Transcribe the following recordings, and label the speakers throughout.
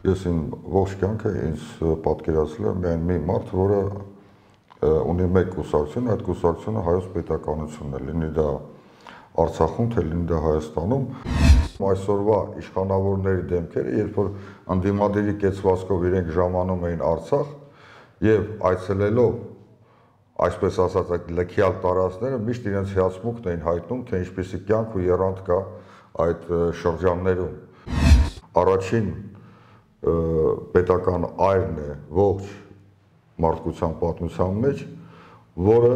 Speaker 1: ես իմ ողջ կյանքը ինձ պատկերացրել եմ միայն մի մարդ, որը ունի մեկ կուսակցություն, այդ կուսակցությունը հայոց պետականությունն է, լինի դա Արցախում, թե լինի դա Հայաստանում։ Այսօրվա իշխանավորների դեմքերը, երբ որ ընդդիմադիրի կեցվածքով իրենք ժամանում էին Արցախ եւ այցելելով, այսպես ասած, այդ լքյալ տարածքները, միշտ իրենց հիացմունքն էին հայտնում, թե ինչպիսի կյանք ու եռանդ կա այդ շրջաններում։ Առաջին պետական այրն է ողջ մարդկության պատմության մեջ, որը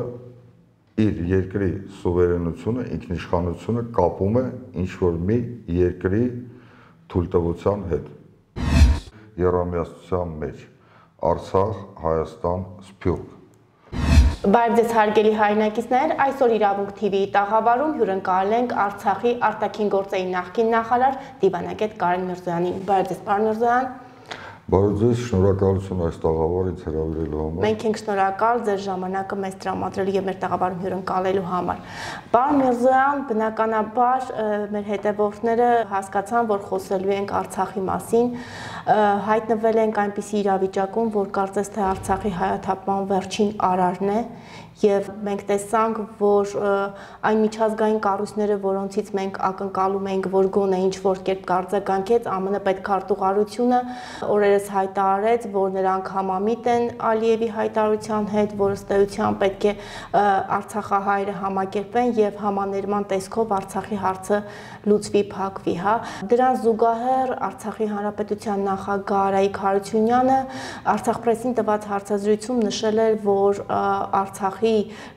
Speaker 1: իր երկրի սուվերենությունը, ինքնիշխանությունը կապում է ինչ-որ մի երկրի թույլտվության հետ։ Եռամիացության մեջ Արցախ, Հայաստան, Սփյուռք։
Speaker 2: Բարև ձեզ հարգելի հայրենակիցներ, այսօր Իրավունք TV-ի տաղավարում հյուրընկալել ենք Արցախի արտաքին գործերի նախկին նախարար դիվանագետ Կարեն Միրզոյանին։ Բարև ձեզ, պարոն Միրզոյան։
Speaker 1: Բարև ձեզ, շնորհակալություն այս տաղավարը ինձ հրավիրելու համար։
Speaker 2: Մենք ենք շնորհակալ ձեր ժամանակը մեզ տրամադրելու եւ մեր տաղավարում հյուրընկալելու համար։ Պարոն Միրզոյան, բնականաբար մեր հետևորդները հասկացան, որ խոսելու ենք Արցախի մասին, հայտնվել ենք այնպիսի իրավիճակում, որ կարծես թե Արցախի հայաթափման վերջին արարն է եւ մենք տեսանք, որ այն միջազգային կառույցները, որոնցից մենք ակնկալում ենք, որ գոնե ինչ-որ կերպ կարձագանքեց, ԱՄՆ պետքարտուղարությունը օրերս հայտարարեց, որ նրանք համամիտ են Ալիևի հայտարարության հետ, որ ըստ էության պետք է Արցախահայերը համակերպեն եւ համաներման տեսքով Արցախի հարցը լուծվի, փակվի, հա։ Դրան զուգահեռ Արցախի հանրապետության նախագահ Արայիկ Հարությունյանը Արցախ-պրեսին տված հարցազրույցում նշել էր, որ Արցախի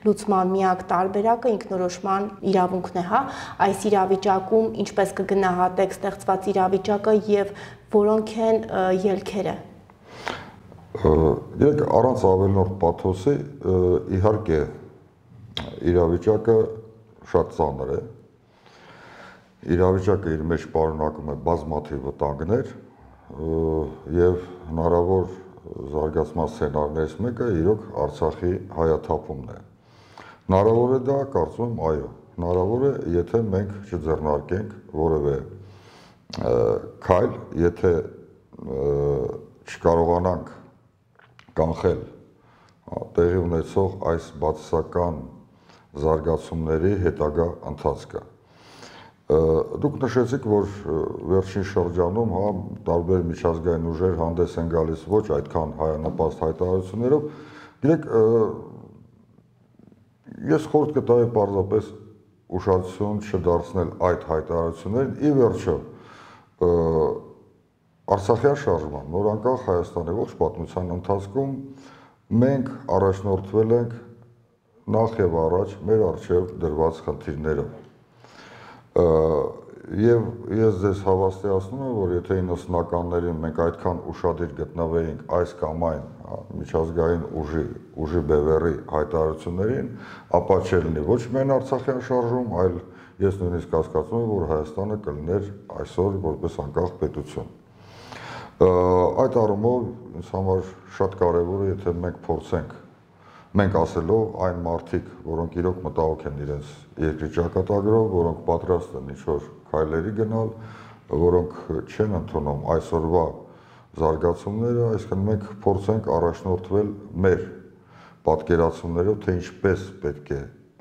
Speaker 2: լուծման միակ տարբերակը ինքնորոշման իրավունքն է, հա։ Այս իրավիճակում ինչպես կգնահատեք ստեղծված իրավիճակը եւ որոնք են ելքերը։
Speaker 1: Երեք առանց ավելնորդ պաթոսի, իհարկե իրավիճակը շատ ծանր է։ Իրավիճակը իր մեջ պարունակում է բազմաթիվ վտանգներ եւ հնարավոր զարգացման սցենարներից մեկը իրոք Արցախի հայաթափումն է։ Հնարավոր է դա, կարծում եմ, այո, հնարավոր է, եթե մենք չձեռնարկենք որևէ քայլ, եթե չկարողանանք կանխել տեղի ունեցող այս բացասական զարգացումների հետագա ընթացքը։ Դուք նշեցիք, որ վերջին շրջանում տարբեր միջազգային ուժեր հանդես են գալիս ոչ այդքան հայանպաստ հայտարարություններով, դիրեք ես խորհուրդ կտայի պարզապես ուշադրություն չդարձնել այդ հայտարարություններին, ի վերջո Արցախյան շարժման նորանկախ Հայաստանի ողջ պատմության ընթացքում մենք առաջնորդվել ենք նախ եւ առաջ մեր առջև դրված խնդիրներով։ Եվ ես ձեզ հավաստիացնում եմ, որ եթե 90-ականներին մենք այդքան ուշադիր գտնվեինք այս կամ այն միջազգային ուժի բևեռի հայտարարություններին, ապա չէր լինի ոչ միայն Արցախյան շարժում, այլ ես նույնիսկ հասկացում եմ, որ Հայաստանը կլիներ այսօր որպես անկախ պետություն։ Այդ առումով ինձ համար շատ կարևոր է, եթե մենք փորձենք մենք ասելով այն մարդիկ, որոնք իրոք մտահոգ են իրենց երկրի ճակատագրով, որոնք պատրաստ են ինչ-որ քայլերի գնալ, որոնք չեն ընդունում այսօրվա զարգացումները, այսինքն մենք փորձենք առաջնորդվել մեր պատկերացումներով, թե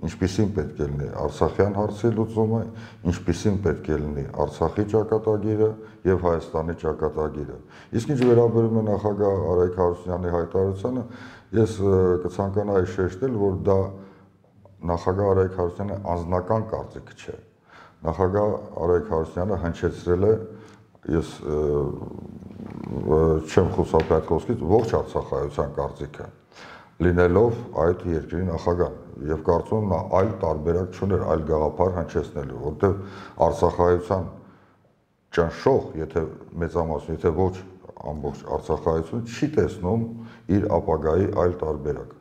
Speaker 1: ինչպիսին պետք է լինի Արցախյան հարցի լուծումը, ինչպիսին պետք է լինի Արցախի ճակատագիրը եւ Հայաստանի ճակատագիրը։ Իսկ ինչ վերաբերում է նախագահ Արայիկ Հարությունյանի հայտարարությանը, ես կցանկանայի շեշտել, որ դա նախագահ Արայիկ Հարությունյանի անձնական կարծիքը չէ։ Նախագահ Արայիկ Հարությունյանը հնչեցրել է, ես չեմ խուսափի այդ խոսքից, ողջ արցախայության կարծիքը, լինելով այդ երկրի նախագահ, եւ կարծում եմ նա այլ տարբերակ չուներ, այլ գաղափար հնչեցնելու, որտեղ արցախայության ճնշող, եթե մեծամասն, եթե ոչ ամբողջ արցախայությունը չի տեսնում իր ապագայի այլ տարբերակ։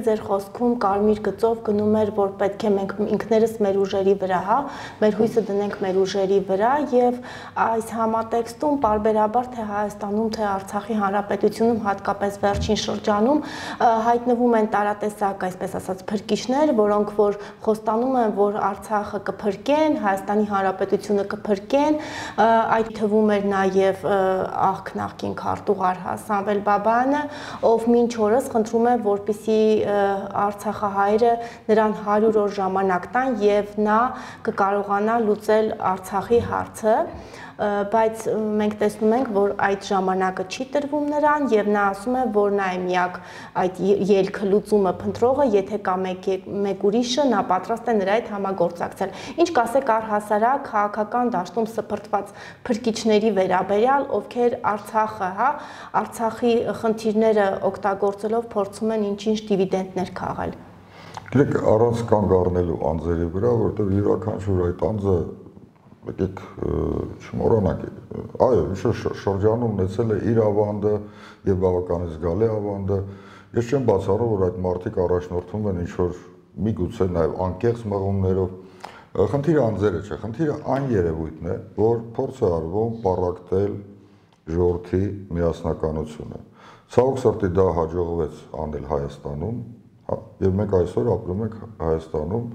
Speaker 2: Ձեր խոսքում կարմիր գծով գնում էր, որ պետք է մենք ինքներս մեր ուժերի վրա, մեր հույսը դնենք մեր ուժերի վրա եւ այս համատեքստում պարբերաբար թե Հայաստանում, թե Արցախի Հանրապետությունում, հատկապես վերջին շրջանում հայտնվում են տարատեսակ, այսպես ասած, փրկիչներ, որոնք որ խոստանում են, որ Արցախը կփրկեն, Հայաստանի Հանրապետությունը կփրկեն, այդ թվում էր նաեւ նախկին քարտուղար Սամվել Բաբայանը, ով մինչ օրս խնդրում է, որպեսզի Արցախահայերը նրան 100 օր ժամանակ տան եւ նա կկարողանա լուծել Արցախի հարցը, բայց մենք տեսնում ենք, որ այդ ժամանակը չի տրվում նրան եւ նա ասում է, որ նա է միակ այդ ելքը լուծումը փնտրողը, եթե կա մեկ ուրիշը, նա պատրաստ է նրա հետ համագործակցել։ Ինչ կասեք առհասարակ քաղաքական դաշտում սփռտված փրկիչների վերաբերյալ, ովքեր Արցախը, Արցախի խնդիրները օգտագործելով փորձում են ինչ-ինչ դիվիդենդներ քաղել։
Speaker 1: Գիտեք, առանց կանգ առնելու անձերի վրա, որտեղ յուրաքանչյուր այդ անձը եկեք չմոռանանք, այո, շրջանում ունեցել է իր ավանդը եւ բավականին զգալի ավանդը։ Ես չեմ բացառում, որ այդ մարդիկ առաջնորդվում են ինչ-որ միգուցե նաեւ անկեղծ մղումներով։ Խնդիրը անձերը չէ, խնդիրը այն երևույթն է, որ փորձ է արվում պառակտել ժողովրդի միասնականությունը։ Ցավոք սրտի դա հաջողվեց անել Հայաստանում, եւ մենք այսօր ապրում ենք Հայաստանում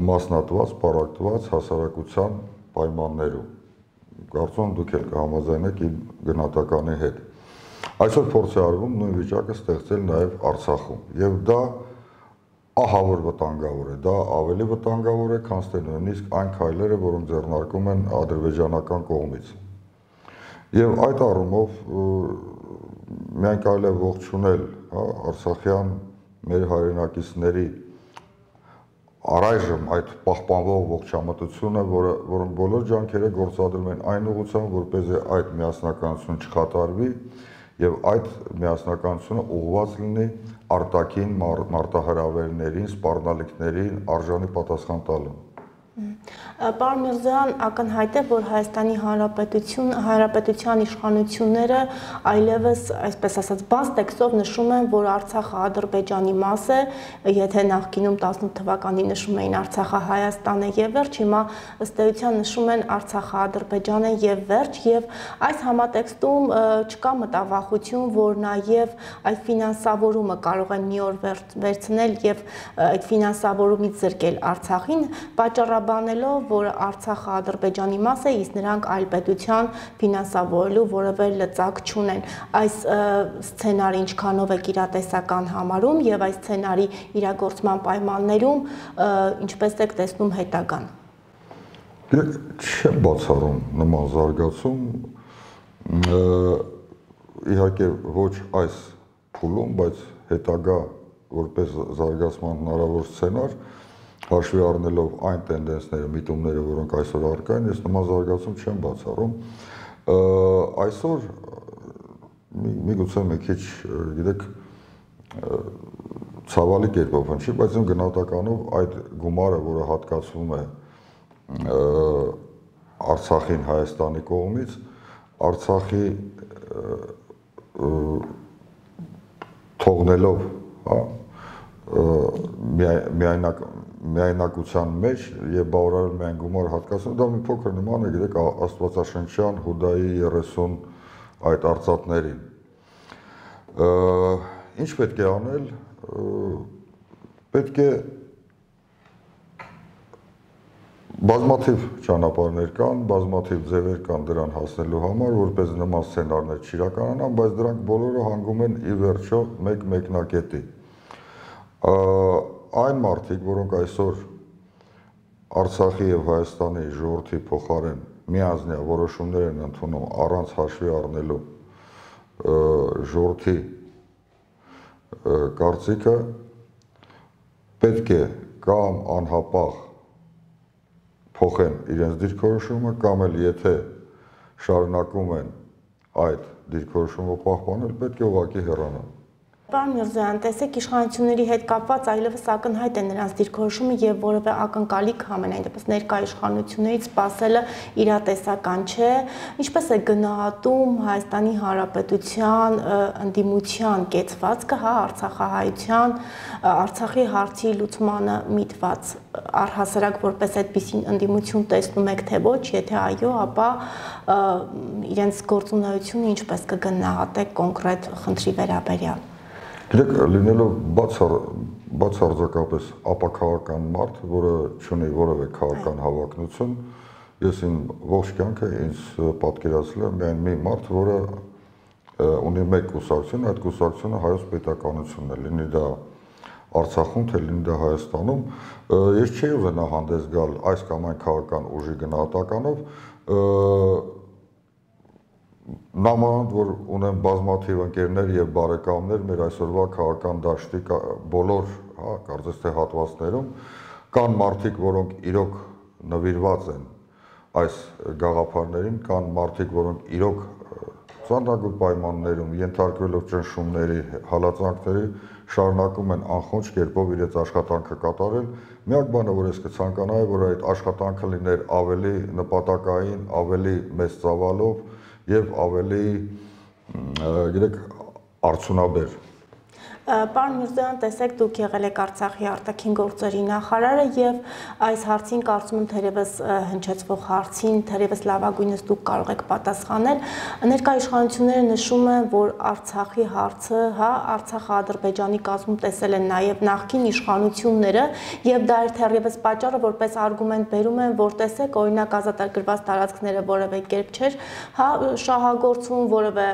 Speaker 1: մասնատված, պառակտված հասարակության պայմաններում։ Կարծում եմ դուք էլ կհամաձայնեք իմ գնահատականի հետ։ Այսօր փորձ է արվում նույն վիճակը ստեղծել նաեւ Արցախում, եւ դա ահավոր վտանգավոր է, դա ավելի վտանգավոր է, քան թե նույնիսկ այն քայլերը, որոնք ձեռնարկում են ադրբեջանական կողմից։ Եվ այդ առումով միայն կարելի է ողջունել արցախյան մեր հայրենակիցների առայժմ այդ պահպանվող ողջամտությունը, որոնք բոլոր ջանքերը գործադրում են այն ուղղությամբ, որպեսզի այդ միասնականություն չխաթարվի եւ այդ միասնականությունը ուղղված լինի արտաքին մարտահրավերներին, սպառնալիքներին արժանի պատասխան տալու։
Speaker 2: Պարոն Միրզոյան, ակնհայտ է, որ Հայաստանի Հանրապետության իշխանությունները այլևս, այսպես ասած, բաց տեքստով նշում են, որ Արցախը Ադրբեջանի մաս է, եթե նախկինում 18 թվականին նշում էին Արցախը Հայաստան է եւ վերջ, հիմա ըստ էության նշում են Արցախը Ադրբեջան է եւ վերջ, եւ այս համատեքստում չկա մտավախություն, որ նաեւ այդ ֆինանսավորումը կարող են մի օր վերցնել եւ այդ ֆինանսավորումից զրկել Արցախին, պատճառաբանելով, որ Արցախը Ադրբեջանի մաս է, իսկ նրանք այլ պետության ֆինանսավորելու որևէ լծակ չունեն։ Այս սցենարը ինչքանով է իրատեսական համարում եւ այս սցենարի իրագործման պայմաններում ինչպես եք տեսնում հետագան։
Speaker 1: Չեմ բացառում նման զարգացում, իհարկե ոչ այս փուլում, բայց հետագա որպես զարգացման հնարավոր սցենար, հաշվի առնելով այն տենդենսները, միտումները, որոնք այսօր առկա են, ես նման զարգացում չեմ բացառում։ Այսօր միգուցե մի քիչ, գիտեք, ցավալի կերպով հնչի, բայց իմ գնահատականով այդ գումարը, որը հատկացվում է Արցախին Հայաստանի կողմից, Արցախի թողնելով, միայնակության մեջ եւ բավարարել միայն գումար հատկացնում, դա մի փոքր նման է, գիտեք, Աստվածաշնչյան Հուդայի 30 այդ արծաթներին։ Ինչ պետք է անել, պետք է բազմաթիվ ճանապարհներ կան, բազմաթիվ ձևեր կան դրան հասնելու համար, որպես նման սցենարներ չիրականանան, բայց դրանք բոլորը հանգում են ի վերջո մեկ մեկնակետի։ Այն մարդիկ, որոնք այսօր Արցախի եւ Հայաստանի ժողովրդի փոխարեն միանձնյա որոշումներ են ընդունում առանց հաշվի առնելու ժողովրդի կարծիքը, պետք է կամ անհապաղ փոխեն իրենց դիրքորոշումը, կամ էլ եթե շարունակում են այդ դիրքորոշումը պահպանել, պետք է ուղղակի հեռանան։
Speaker 2: Պարոն Միրզոյան, տեսեք, իշխանությունների հետ կապված այլևս ակնհայտ է նրանց դիրքորոշումը եւ որևէ ակնկալիք համենայն դեպս ներկա իշխանություններից սпасելը իրատեսական չէ։ Ինչպես է գնահատում Հայաստանի Հանրապետության ընդդիմության կեցվածքը, հա, արցախահայության, Արցախի հարցի լուծմանը միտված, առհասարակ որպես այդպիսին ընդդիմություն տեսնում եք թե ոչ, եթե այո, ապա իրենց գործունեությունը ինչպես կգնահատեք կոնկրետ խնդրի վերաբերյալ։
Speaker 1: Գիտեք, լինելով բացարձակապես ապաքաղաքական մարդ, որը չունի որևէ քաղաքական հավակնություն, ես իմ ողջ կյանքը ինձ պատկերացրել եմ միայն մի մարդ, որը ունի մեկ կուսակցություն, այդ կուսակցությունը Հայոց պետականությունն է, լինի դա Արցախում, թե լինի դա Հայաստանում, ես չէի ուզենա հանդես գալ այս կամ այն քաղաքական ուժի գնահատականով, նամանավանդ որ ունեմ բազմաթիվ ընկերներ եւ բարեկամներ մեր այսօրվա քաղաքական դաշտի բոլոր, հա, կարծես թե հատվածներում կան մարդիկ, որոնք իրոք նվիրված են այս գաղափարներին, կան մարդիկ, որոնք իրոք ծանրագույն պայմաններում ենթարկվելով ճնշումների, հալածանքների շարունակում են անխոնջ կերպով իրենց աշխատանքը կատարել։ Միակ բանը, որ ես կցանկանայի, որ այդ աշխատանքը լիներ ավելի նպատակային, ավելի մեծ ծավալով եւ ավելի, գիտեք, արդյունաբեր։
Speaker 2: Պարոն Միրզոյան, տեսեք, դուք եղել եք Արցախի արտաքին գործերի նախարարը եւ այս հարցին կարծում եմ թերևս հնչեցվող հարցին թերևս լավագույնս դուք կարող եք պատասխանել։ Ներկա իշխանությունները նշում են, որ Արցախի հարցը, հա, Արցախը Ադրբեջանի կազմում տեսել են նաեւ նախկին իշխանությունները եւ դա էր թերևս պատճառը, որպես արգումենտ բերում են, որ տեսեք, օրինակ ազատագրված տարածքները որևէ կերպ չէր, հա, շահագործում, որևէ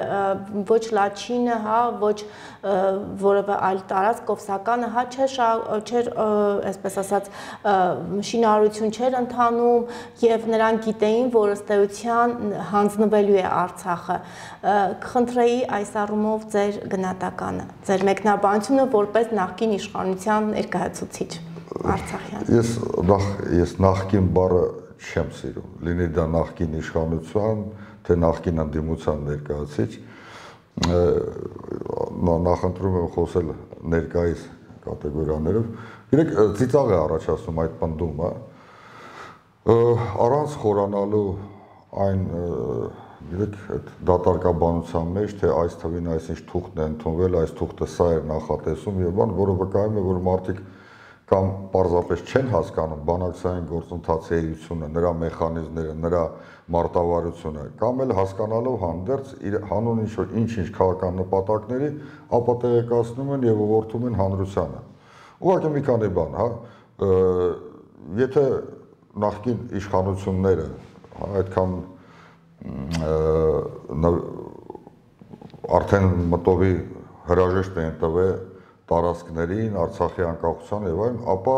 Speaker 2: ոչ Լաչինը, հա, ոչ որևէ այլ տարածք Կովսականը, հա, չէր, այսպես ասած, շինարարություն չէր ընթանում եւ նրանք գիտեին, որ ըստ էության հանձնվելու է Արցախը։ Կխնդրեի այս առումով ձեր գնահատականը, ձեր մեկնաբանությունը որպես նախկին իշխանության ներկայացուցիչ Արցախյան։
Speaker 1: Ես նախկին բառը չեմ սիրում, լինի դա նախկին իշխանության, թե նախկին ընդդիմության ներկայացուցիչ, նախընտրում եմ խոսել ներկայիս կատեգորիաներով։ Գիտեք, ծիծաղ է առաջացնում այդ պնդումը, առանց խորանալու այն, գիտեք, այդ դատարկաբանության մեջ, թե այս թվին այսինչ թուղթն է ընդունվել, այս թուղթը սա էր նախատեսում եւ բան, որը վկայում է, որ մարդիկ կամ պարզապես չեն հասկանում բանակցային գործընթացի էությունը, նրա մեխանիզմները, նրա մարտավարությունը, կամ էլ հասկանալով հանդերձ հանուն ինչ-ինչ քաղաքական նպատակների ապատեղեկացնում են եւ ուղղորդում են հանրությանը։ Ուղղակի մի քանի բան, հա, եթե նախկին իշխանությունները, հա, այդքան արդեն մտովի հրաժեշտ են տվել տարածքներին, Արցախի անկախության եւ այլն, ապա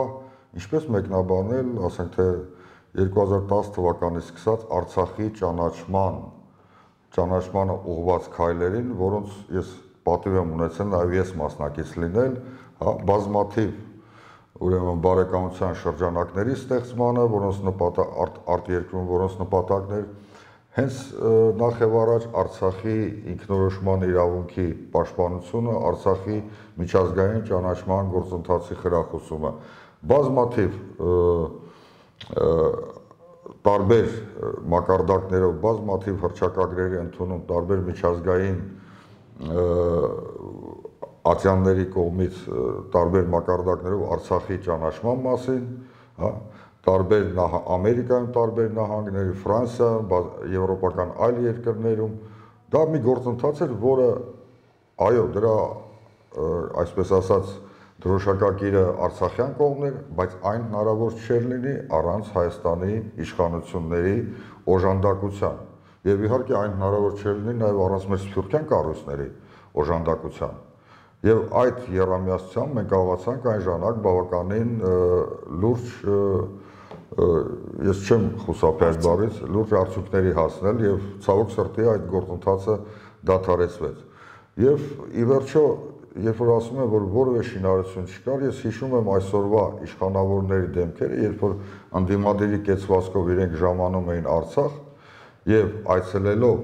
Speaker 1: ինչպես մեկնաբանել, ասենք թե 2010 թվականից սկսած Արցախի ճանաչմանը ուղղված քայլերին, որոնց ես պատիվ եմ ունեցել նաեւ ես մասնակից լինել, հա, բազմաթիվ ուրեմն բարեկամության շրջանակների ստեղծմանը, որոնց արտերկրում նպատակներ հենց նախ եւ առաջ Արցախի ինքնորոշման իրավունքի պաշտպանությունը, Արցախի միջազգային ճանաչման գործընթացի խրախուսումը, բազմաթիվ տարբեր մակարդակներով, բազմաթիվ հռչակագրերի ընդունում, տարբեր միջազգային ատյանների կողմից տարբեր մակարդակներով Արցախի ճանաչման մասին, հա, տարբեր Ամերիկայում տարբեր նահանգների, Ֆրանսիայում, եվրոպական այլ երկրներում, դա մի գործընթաց էր, որը, այո, դրա, այսպես ասած, դրոշակակիրը արցախյան կողմն էր, բայց այն հնարավոր չէր լինի առանց Հայաստանի իշխանությունների օժանդակության։ Եվ իհարկե այն հնարավոր չէր լինի նաև առանց մեր սփյուռքյան կառույցների օժանդակության։ Եվ այդ եռամիացությամբ մենք կարողացանք այն ժամանակ բավականին լուրջ, ես չեմ խուսափի այդ բառից, լուրջ արդյունքների հասնել եւ ցավոք սրտի այդ գործընթացը դադարեցվեց։ Եվ ի վերջո, երբ որ ասում եմ, որ որևէ շինարարություն չկար, ես հիշում եմ այսօրվա իշխանավորների դեմքերը, երբ որ ընդդիմադիրի կեցվածքով իրենք ժամանում էին Արցախ եւ այցելելով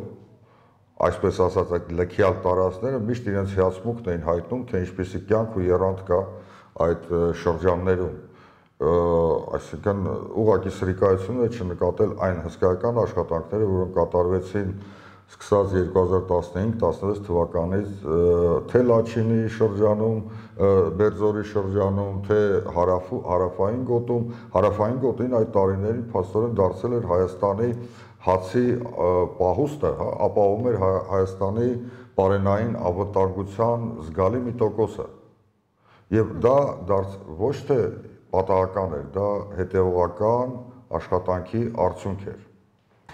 Speaker 1: այսպես ասած այդ լքյալ տարածքները միշտ իրենց հիացմունքն էին հայտնում, թե ինչպեսի կյանք ու եռանդ կա այդ շրջաններում, այսինքն ուղղակի սրիկայություն է չնկատել այն հսկայական աշխատանքները, որոնք կատարվեցին սկսած 2015-16 թվականից թե Լաչինի շրջանում, Բերձորի շրջանում, թե հարավային գոտին այդ տարիներին փաստորեն դարձել էր Հայաստանի հացի պահուստը, ապահովում էր Հայաստանի պարենային անվտանգության զգալի մի տոկոսը։ Եվ դա ոչ թե պատահական էր, դա հետևողական աշխատանքի արդյունք էր։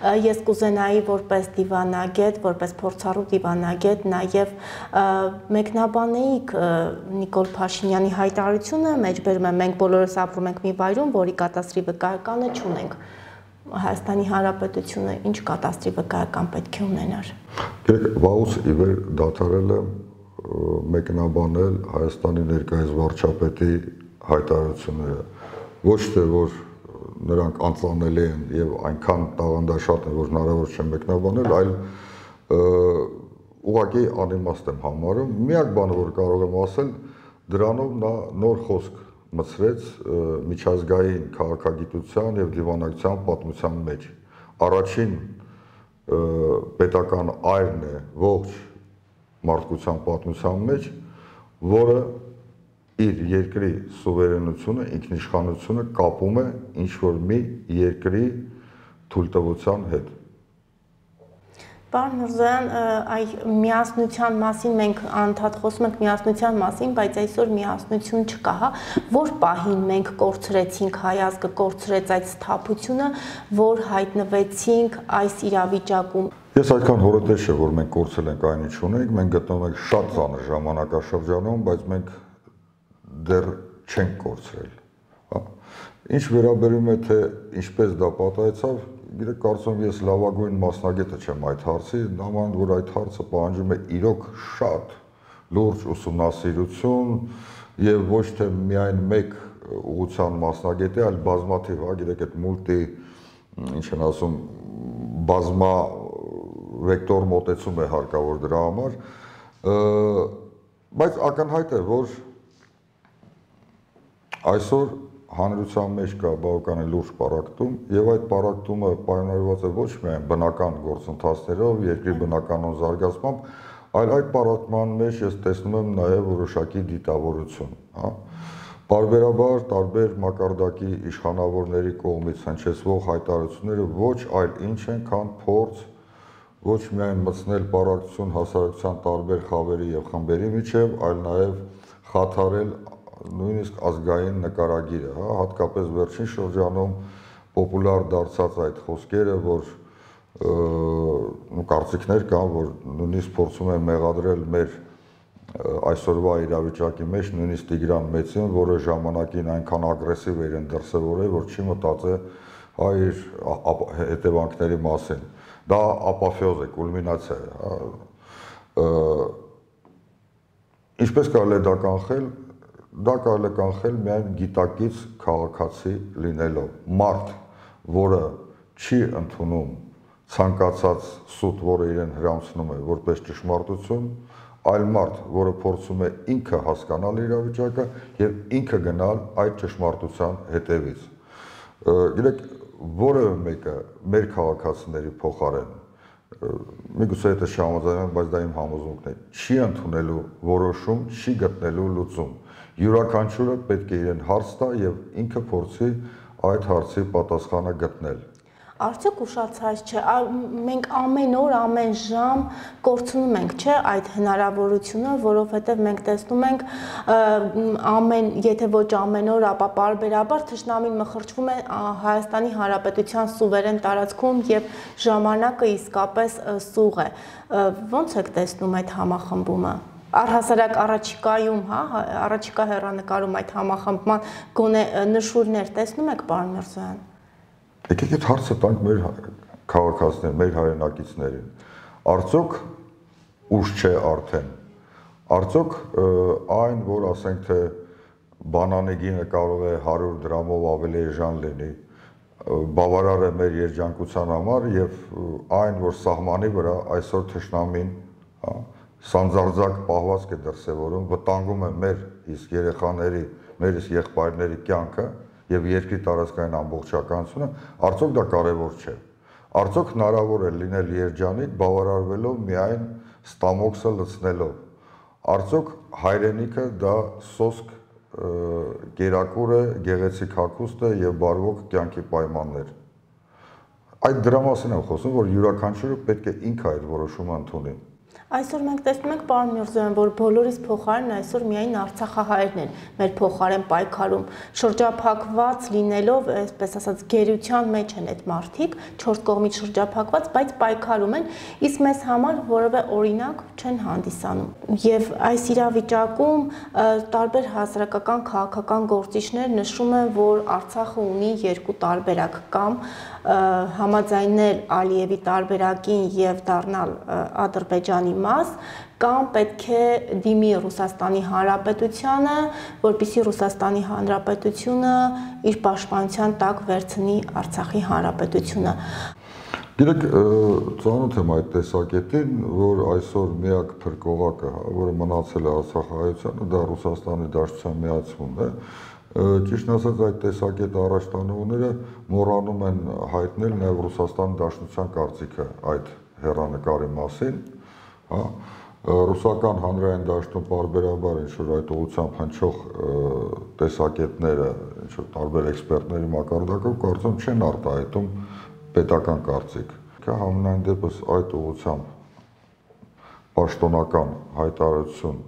Speaker 2: Ես կուզենայի որպես դիվանագետ, որպես փորձառու դիվանագետ նաև մեկնաբանեիք Նիկոլ Փաշինյանի հայտարարությունը, մեջբերում եմ մենք բոլորս ապրում ենք մի վայրում, որի կատաստրի վկայականը չունենք։ Հայաստանի Հանրապետությունը ինչ կատաստրի վկայական պետք է ունենար։
Speaker 1: Վաղուց ի վեր դադարել եմ մեկնաբանել Հայաստանի ներկայիս վարչապետի հայտարարությունները, ոչ թե որ նրանք անծանելի են եւ այնքան տաղանդաշատ են, որ հնարավոր չէ մեկնաբանել, այլ ուղղակի անիմաստ եմ համարում։ Միակ բանը, որ կարող եմ ասել, դրանով նա նոր խոսք մցրեց միջազգային քաղաքագիտության եւ դիվանագիտության պատմության մեջ։ Առաջին պետական այրն է ողջ մարդկության պատմության մեջ, որը իր երկրի սուվերենությունը, ինքնիշխանությունը կապում է ինչ-որ մի երկրի թույլտվության հետ։
Speaker 2: Պարոն Միրզոյան, այ միասնության մասին մենք անդադ խոսում ենք միասնության մասին, բայց այսօր միասնություն չկա, հա, որ պահին մենք կորցրեցինք հայ ազգը, կորցրեց այդ սթափությունը, որ հայտնվեցինք այս իրավիճակում։
Speaker 1: Ես այդքան հորոտես չէ, որ մենք կորցրել ենք այն ինչ ունենք, մենք գտնվում ենք շատ ծանր ժամանակաշրջանում, բայց մենք դեռ չենք կորցրել։ Ինչ վերաբերում է թե ինչպես դա պատահեցավ, գիտեք, կարծում ես լավագույն մասնագետը չեմ այդ հարցի, նման որ այդ հարցը պահանջում է իրոք շատ լուրջ ուսումնասիրություն եւ ոչ թե միայն մեկ ուղղության մասնագետի, այլ բազմաթիվ, գիտեք, այդ մուլտի, ինչ են ասում, բազմա վեկտոր մոտեցում է հարկավոր դրա համար, բայց ակնհայտ է, որ այսօր հանրության մեջ կա բավականին լուրջ պառակտում եւ այդ պառակտումը պայմանավորված է ոչ միայն բնական գործընթացներով, երկրի բնականոն զարգացմամբ, այլ այդ պառակտման մեջ ես տեսնում եմ նաեւ որոշակի դիտավորություն, հա։ Բարբերաբար տարբեր մակարդակի իշխանավորների կողմից հնչեցվող հայտարարությունները ոչ այլ ինչ են, քան փորձ ոչ միայն մտցնել պառակտություն հասարակության տարբեր խավերի եւ խմբերի միջեւ, այլ նաեւ խաթարել նույնիսկ ազգային նկարագիրը, հա, հատկապես վերջին շրջանում պոպուլար դարձած այդ խոսքերը, որ կարծիքներ կան, որ նույնիսկ փորձում են մեղադրել մեր այսօրվա իրավիճակի մեջ նույնիսկ Տիգրան Մեծին, որը ժամանակին այնքան ագրեսիվ էր դրսևորել, որ չի մտածել իր հետևանքների մասին։ Դա ապոֆեոզ է, կուլմինացիա է։ Ինչպես կարելի է դա կանխել։ Դա կարելի է կանխել միայն գիտակից քաղաքացի լինելով, մարդ, որը չի ընդունում ցանկացած սուտ, որը իրեն հրամցնում է որպես ճշմարտություն, այլ մարդ, որը փորձում է ինքը հասկանալ իրավիճակը եւ ինքը գնալ այդ ճշմարտության հետևից։ Գիտեք, որևէ մեկը մեր քաղաքացիների փոխարեն, միգուցե դա չհամաձայնեմ, բայց դա իմ համոզմունքն է, չի ընդունելու որոշում, չի գտնելու լուծում։ Յուրաքանչյուրը պետք է իրեն հարց տա եւ ինքը փորձի այդ հարցի պատասխանը գտնել։
Speaker 2: Արդյոք ուշացած չէ, մենք ամեն օր, ամեն ժամ կորցնում ենք, չէ, այդ հնարավորությունը, որովհետև մենք տեսնում ենք եթե ոչ ամեն օր, ապա պարբերաբար թշնամին մխրճվում է Հայաստանի Հանրապետության սուվերեն տարածքում եւ ժամանակը իսկապես սուղ է։ Ոնց եք տեսնում այդ համախմբումը։ Առհասարակ առաջիկայում, հա, առաջիկա հեռանկարում այդ համախմբման գոնե նշույլներ տեսնում եք, պարոն Միրզոյան։
Speaker 1: Եկեք այդ հարցը տանք մեր քաղաքացիներին, մեր հայրենակիցներին։ Արդյոք ուշ չէ արդեն։ Արդյոք այն, որ ասենք թե բանանի գինը կարող է 100 դրամով ավելի էժան լինի, բավարար է մեր երջանկության համար եւ այն, որ սահմանի վրա այսօր թշնամին սանձարձակ պահվածք է դրսևորում, վտանգում է մեր իսկ երեխաների, մեր իսկ եղբայրների կյանքը եւ երկրի տարածքային ամբողջականությունը, արդյոք դա կարեւոր չէ։ Արդյոք հնարավոր է լինել երջանիկ բավարարվելով միայն ստամոքսը լցնելով։ Արդյոք հայրենիքը դա սոսկ կերակուր է, գեղեցիկ հագուստ է եւ բարվոք կյանքի պայմաններ։ Այդ դրա մասին եմ խոսում, որ յուրաքանչյուրը պետք է ինքը այդ որոշումը ընդունի։
Speaker 2: Այսօր մենք տեսնում ենք, պարոն Միրզոյան, որ բոլորիս փոխարեն այսօր միայն արցախահայերն են մեր փոխարեն պայքարում, շրջափակված լինելով, այսպես ասած, գերության մեջ են այդ մարդիկ, 4 կողմից շրջափակված, բայց պայքարում են, իսկ մեզ համար որևէ օրինակ չեն հանդիսանում։ Եվ այս իրավիճակում տարբեր հասարակական քաղաքական գործիչներ նշում են, որ Արցախը ունի երկու տարբերակ, կամ համաձայնել Ալիևի տարբերակին եւ դառնալ Ադրբեջանի մաս, կամ պետք է դիմի Ռուսաստանի Հանրապետությանը, որպեսզի Ռուսաստանի Հանրապետությունը իր պաշտպանության տակ վերցնի Արցախի Հանրապետությունը։
Speaker 1: Գիտեք, ծանոթ եմ այդ տեսակետին, որ այսօր միակ փրկողակը, որը մնացել է արցախահայությանը, դա Ռուսաստանի Դաշնության միացումն է։ Ճիշտն ասած, այդ տեսակետ առաջտանողները մոռանում են հայտնել նաև Ռուսաստանի Դաշնության կարծիքը այդ հեռանկարի մասին, հա, Ռուսական հանրային դաշտում պարբերաբար ինչ-որ այդ ուղղությամբ հնչող տեսակետները, ինչ-որ տարբեր էքսպերտների մակարդակով կարծում չեն արտահայտում պետական կարծիք։ Համենայն դեպս այդ ուղղությամբ պաշտոնական հայտարարություն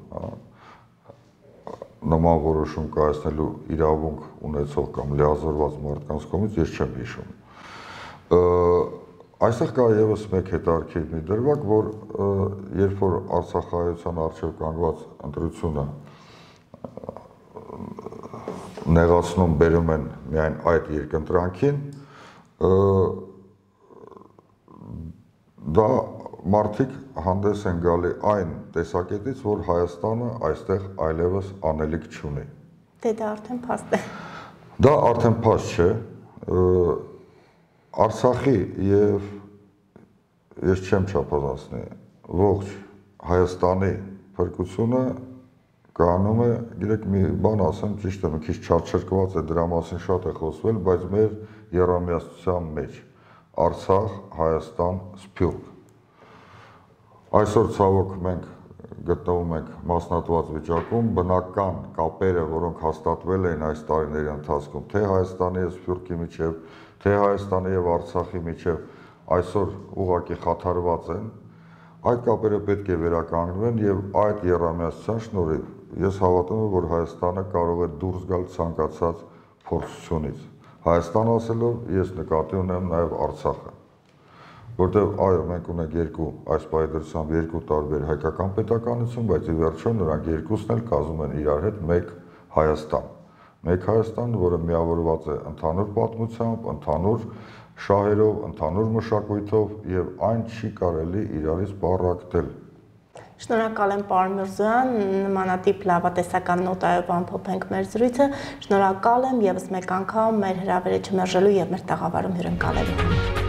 Speaker 1: նման որոշում կայացնելու իրավունք ունեցող կամ լիազորված մարդկանց կողմից ես չեմ հիշում։ Այստեղ կա եւս մեկ հետաքրքիր մի դրվագ, որ երբ որ արցախահայության առջև կանգնված ընտրությունը նեղացնում բերում են միայն այդ երկընտրանքին, դա մարդիկ հանդես են գալի այն տեսակետից, որ Հայաստանը այստեղ այլևս անելիք չունի։
Speaker 2: Դե դա արդեն փաստ է։
Speaker 1: Դա արդեն փաստ չէ։ Արցախի եւ ես չեմ չափազանցնի ողջ Հայաստանի փրկությունը կանում է, գիտեք, մի բան ասեմ, ճիշտ է, մի քիչ չարչրկված է, դրա մասին շատ է խոսվել, բայց մեր եռամիացության մեջ Արցախ, Հայաստան, Սփյուռք։ Այսօր ցավոք մենք գտնվում ենք մասնատված վիճակում, բնական կապերը, որոնք հաստատվել էին այս տարիների ընթացքում, թե Հայաստանի եւ Սփյուռքի միջև, թե Հայաստանի եւ Արցախի միջև, այսօր ուղղակի խաթարված են, այդ կապերը պետք է վերականգնվեն եւ այդ եռամիացության շնորհիվ ես հավատում եմ, որ Հայաստանը կարող է դուրս գալ ցանկացած փորձությունից։ Հայաստան ասելով ես նկատի ունեմ նաեւ Արցախը, որտեղ այո, մենք ունենք այս պայդրությամբ երկու տարբեր հայկական պետականություն, բայց ի վերջո նրանք երկուսն էլ կազմում են իրար հետ մեկ Հայաստան, որը միավորված է ընդհանուր պատմությամբ, ընդհանուր շահերով, ընդհանուր մշակույթով եւ այն չի կարելի իրարից բառակտել։
Speaker 2: Շնորհակալ եմ, պարոն Միրզոյան, նմանատիպ լավատեսական նոտայով ամփոփենք մեր զրույցը։ Շնորհակալ եմ եւս մեկ անգամ մեր հրավերը չմերժելու եւ մեր տաղավարում հյուրընկալելու համար։